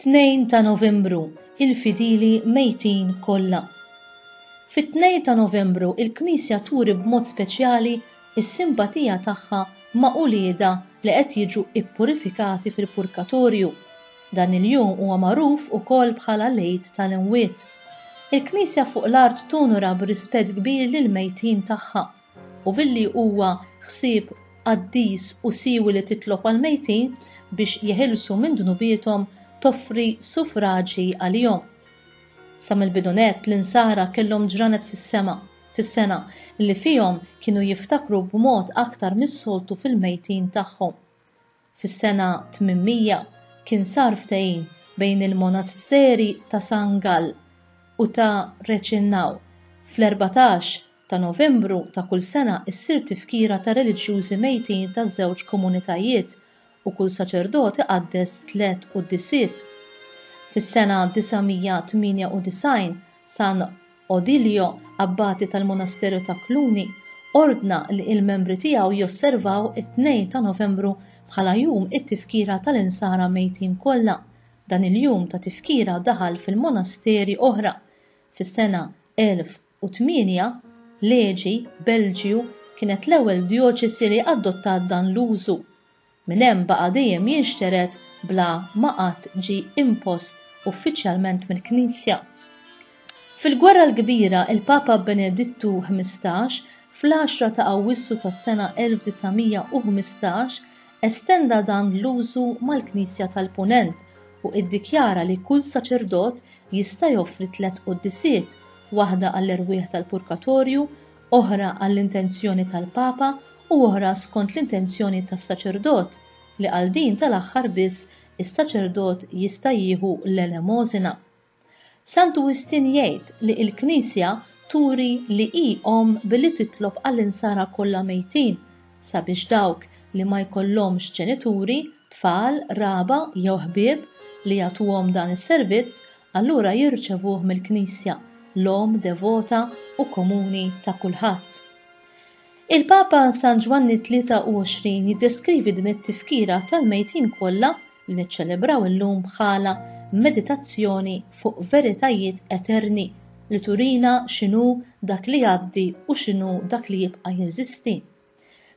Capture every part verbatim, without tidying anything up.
Tnejn ta' Novembru, il-fidili mejtin kollha. Fit-tnejn ta' Novembru il-Knisja turi b'mod speċjali s-simpatija tagħha ma' uliedha li qed jiġu ippurifikati fil-purkatorju. Dan il-jum huwa magħruf ukoll bħala l-Għid tal-Imwiet. Il-Knisja fuq l-art tonora b'rispett kbir lill-mejtin tagħha u billi huwa ħsieb qaddis u siwi li titlob għall-mejtin biex jeħilsu minn dnubiethom toffri suffraġi għalihom. Sa mill-bidu nett l-insara kellhom ġranet fis-sema fis-sena li fihom kienu jiftakru b'mod aktar mis-soltu fil-mejtin tagħhom. Fis-sena tmien mija kien sar ftehim bejn il-monasteri ta' San Gall u ta' Reichenau. Fl-erbatax ta' Novembru ta' kull sena issir tifkira ta' reliġjużi mejtin taż-żewġ komunitajiet u kull saċerdot iqaddes tliet quddisiet. Fis-sena disa' mija tmienja u disgħin San Odilio, abbati tal-Monasteru ta' Cluny, ordna li il-membri tiegħu josservaw it-tnejn ta' Novembru bħala jum it-tifkira tal-insara mejtin kollha. Dan il-jum ta' tifkira daħal fil-monasteri oħra. Fis-sena elf u tmienja Leġi, Belġju, kienet l-ewwel djoċesi li adottat dan l-użu. Minn hemm baqa' dejjem jinxtered bla ma qatt ġie impost uffiċjalment mill-Knisja. Fil-Gwerra l-Kbira, il-Papa Benedittu ħmistax fl-għaxra ta' Awwissu tas-sena elf disa' mija u ħmistax estenda dan l-użu mal-Knisja tal-Punent u iddikjara li kull saċerdot jista' joffri tliet quddisiet, waħda għall-erwieħ tal-purkatorju, oħra għall-intenzjoni tal-Papa u oħra skont l-intenzjoni tas-saċerdot, li għal din tal-aħħar biss is-saċerdot jista' jieħu l-elemosina. Santu Wistin jgħid li l-Knisja turi li hi omm billi titlob għall-insara kollha mejtin sabiex dawk li ma jkollhomx ġenituri, tfal, raba jew ħbieb li jagħtuhom dan is-servizz, allura jirċevuh mill-Knisja, l-omm devota u komuni ta' kulħadd. Il-Papa San Ġwanni tlieta u għoxrin jiddeskrivi din it-tifkira tal-mejtin kollha li niċċelebraw illum bħala meditazzjoni fuq veritajiet eterni li turina x'inhu dak li jgħaddi u x'inhu dak li jibqa' jeżisti.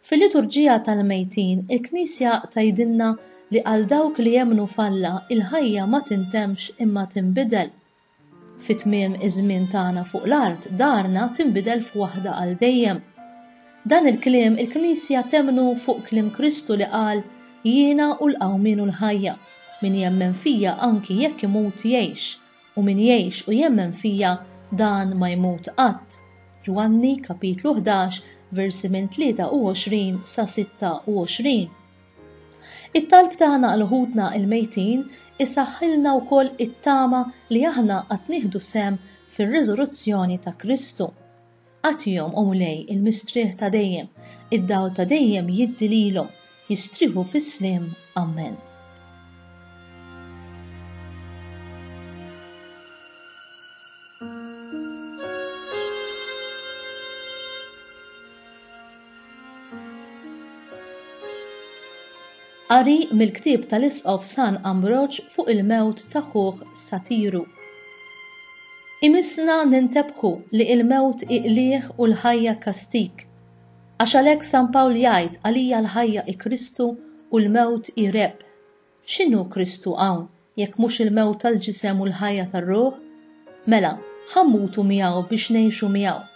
Fil-liturġija tal-mejtin, il-Knisja tgħidilna li għal dawk li jemmnu f'Alla il-ħajja ma tintemx imma tinbidel. Fi tmiem iż-żmien tagħna fuq l-art, darna tinbidel f'waħda għal dejjem. Dan il-kliem il-Knisja temmnu fuq kliem Kristu li qal: "Jiena hu l-qawmien u l-ħajja, min jemmen fija anki jekk imut jgħix, u min jgħix u jemmen fija dan ma jmut qatt." Ġwanni kapitlu ħdax versi minn tlieta u għoxrin sa sitta u għoxrin. It-talb tagħna għal ħutna il-mejtin isaħħilna wkoll it-tama li aħna qatt nieħdu sehem fir-riżuruzzjoni ta' Kristu. Agħtihom, o Mulej, il-mistrieħ ta' dejjem, id-dawl ta' dejjem jiddi lilhom, jistrieħu fis-sliem. Amen. Qari mill-ktieb tal-Isqof San Ambroġ fuq il-mewt ta' ħuh Satiru. Imissna nintebħu li il-mewt hi qligħ u l-ħajja kastig. Għax għalhekk San Pawl jgħid: "Għalija l-ħajja hi Kristu u l-mewt hi rebħ." X'inhu Kristu hawn jekk mhux il-mewt tal-ġisem u l-ħajja tar-ruħ? Mela, ħa mmutu miegħu biex ngħixu miegħu.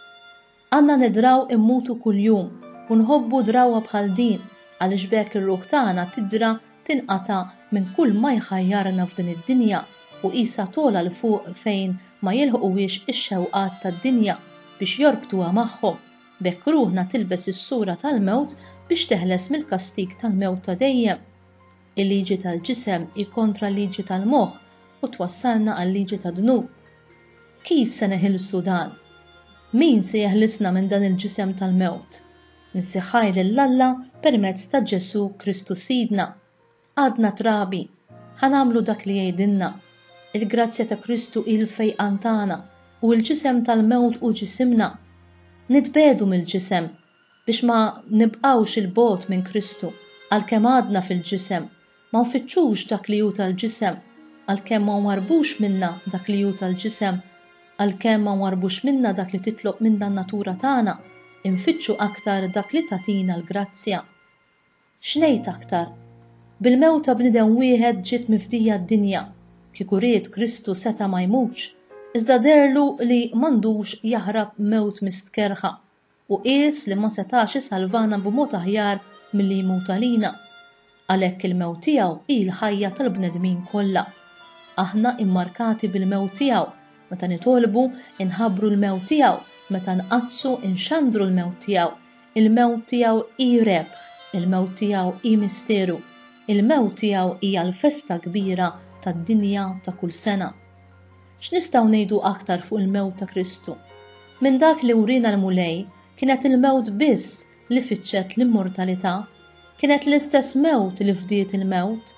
Għandna nidraw immutu kuljum u nħobbu drawwa bħal din, għaliex b'hekk ir-ruħ tagħna tidra tinqata' minn kull ma jħajjarna f'din id-dinja u qisha togħla 'l fuq fejn ma jilħquhiex ix-xewqat tad-dinja biex jorbtuha magħhom. B'hekk ruħna tilbes is-sura tal-mewt biex teħles mill-kastig tal-mewt ta' dejjem. Il-liġi tal-ġisem hi kontra l-liġi tal-moħħ u twassalna għal-liġi tad-dnub. Kif se neħilsu dan? Min se jeħlisna minn dan il-ġisem tal-mewt? Niżżi ħajr lil Alla permezz ta' Ġesù Kristu Sidna. Għadna trabi, ħa nagħmlu dak li jgħidilna. Il-grazzja ta' Kristu hi l-fejqan tagħna u l-ġisem tal-mewt hu ġisimna. Nitbiegħdu mill-ġisem biex ma nibqgħux 'il bogħod minn Kristu, għalkemm għadna fil-ġisem, ma nfittxux dak li hu tal-ġisem, Għalkemm ma nwarrbux minna dak li hu tal-ġisem, għalkemm ma nwarrbux minna dak li titlob minna n-natura tagħna, infittxu aktar dak li tagħtina l-grazzja. X'ngħid aktar? Bil-mewt ta' bniedem wieħed ġiet mifdija d-dinja. Kieku ried Kristu seta' ma jmutx, iżda deherlu li m'għandux jaħrab mewt mistkerrħa, u qies li ma setax isalvana b'mod aħjar milli jmut għalina. Għalhekk il-mewt tiegħu hi l-ħajja tal-bnedmin kollha. Aħna immarkati bil-mewt tiegħu, meta nitolbu inħabbru l-mewt tiegħu, meta nqaddsu inxandru l-mewt tiegħu. Il-mewt tiegħu hi rebħ, il-mewt tiegħu hi misteru, il-mewt tiegħu hija l-festa kbira tad-dinja ta' kull sena. X'nistgħu ngħidu aktar fuq il-mewt ta' Kristu? Minn dak li wriena l-Mulej, kienet il-mewt biss li fittxet l-immortalità, kienet l-istess mewt li fdiet il-mewt.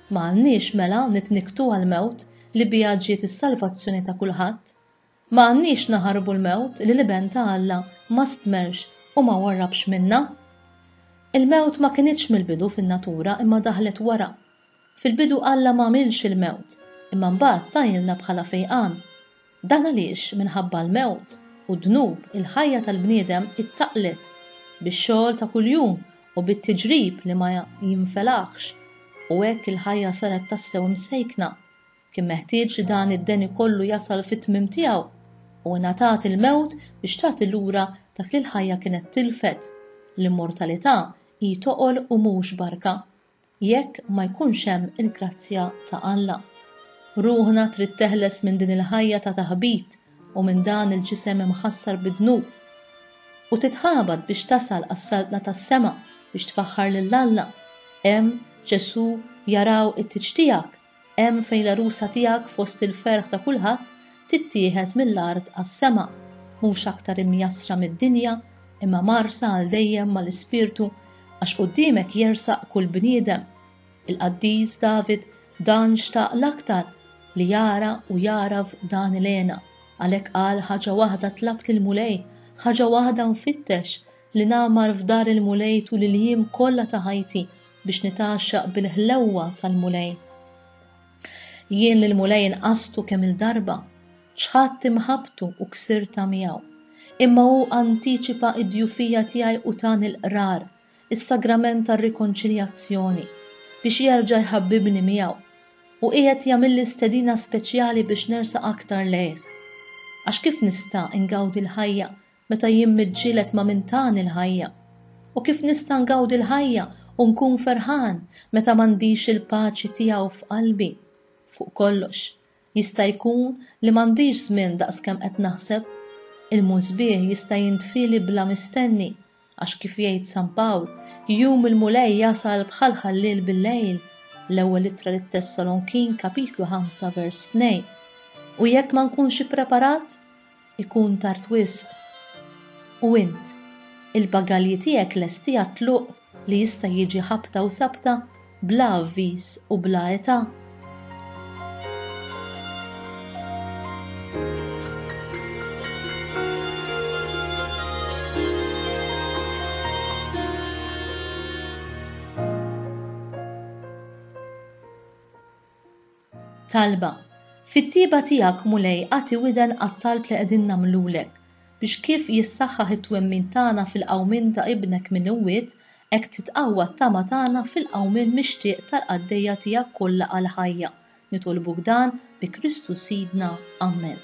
Ma għandniex mela nitniktu għall-mewt li biha ġiet is-salvazzjoni ta' kulħadd. Ma għandniex naħarbu l-mewt li l-Iben ta' Alla ma stmerx u ma warrabx minna. Il-mewt ma kinitx mill-bidu fin-natura imma daħlet wara. Fil-bidu Alla ma għamilx il-mewt, imma mbagħad tajilna bħala fejqan. Dan għaliex minħabba l-mewt u d-dnub il-ħajja tal-bniedem ittaqlet bix-xogħol ta' kuljum u bit-tiġrib li ma jinfelaħx, u hekk il-ħajja saret tassew imsejkna. Kien meħtieġ li dan id-deni kollu jasal fit-tmiem tiegħu, u ngħatat il-mewt biex tagħti lura dak li l-ħajja kienet tilfet. L-immortalità hi toqol u mhux barka, jekk ma jkunx hemm il-grazzja ta' Alla. Ruħna trid teħles minn din il-ħajja ta' taħbit u minn dan il-ġisem imħassar bid-dnub, u titħabat biex tasal għas-saltna tas-sema biex tfaħħar lil Alla. Hemm Ġesù jaraw it-tieġ tiegħek, hemm fejn l-għarusa tiegħek fost il-ferħ ta' kulħadd tittieħed mill-art għas-sema, mhux aktar imjassra mid-dinja imma marsa għal dejjem mal-Ispirtu, għax quddiemek jersaq kull bniedem. Il-qaddis David dan xtaq l-aktar li jara u jaraf dan il-għena. Għalhekk qal ħaġa waħda tlabt lill-Mulej, ħaġa waħda nfittex, li nagħmar f'dar il-Mulej tul il-jiem kollha ta' ħajti biex nitgħaxxaq bil-ħlewwa tal-Mulej. Jien lill-Mulej inqastu kemm il-darba, ċħadt imħabbtu u ksirta miegħu. Imma hu antiċipa id-djufija tiegħi u tani l-qrar, is-sagrament tar-rikonċiljazzjoni, biex jerġa' jħabbibni miegħu, u qiegħed jagħmilli stedina speċjali biex nersaq aktar lejh. Għax kif nista' ngawdi l-ħajja meta jien miġġieled ma' min tani l-ħajja? U kif nista' ngawdi l-ħajja u nkun ferħan meta m'għandix il-paċi tiegħu f'qalbi? Fuq kollox, jista' jkun li m'għandix żmien daqskemm qed naħseb. Il-musbieħ jista' jintfili bla mistenni, għax kif jgħid San Pawl, jum il-Mulej jasal bħal ħalliel bil-lejl, l-ewwel ittra lit-Tessalonkin kapitlu ħamsa vers tnejn. U jekk ma nkunx ippreparat, ikun tard wisq. U int, il-bagalji tiegħek lesti għat-tluq li jista' jiġi ħabta u sabta bla avviż u bla età. Talba. Fit-tiba tiegħek Mulej agħti widen għat-talb li qegħdin nagħmlulek, biex kif jissaħħaħ it-twemmin tagħna fil-qawmien ta' ibnek minn imwiet, hekk titqawwa t-tama tagħna fil-qawmien mixtieq tal-qaddejja tiegħek kollha għall-ħajja. Nitolbuk dan bi Kristu Sidna. Amen.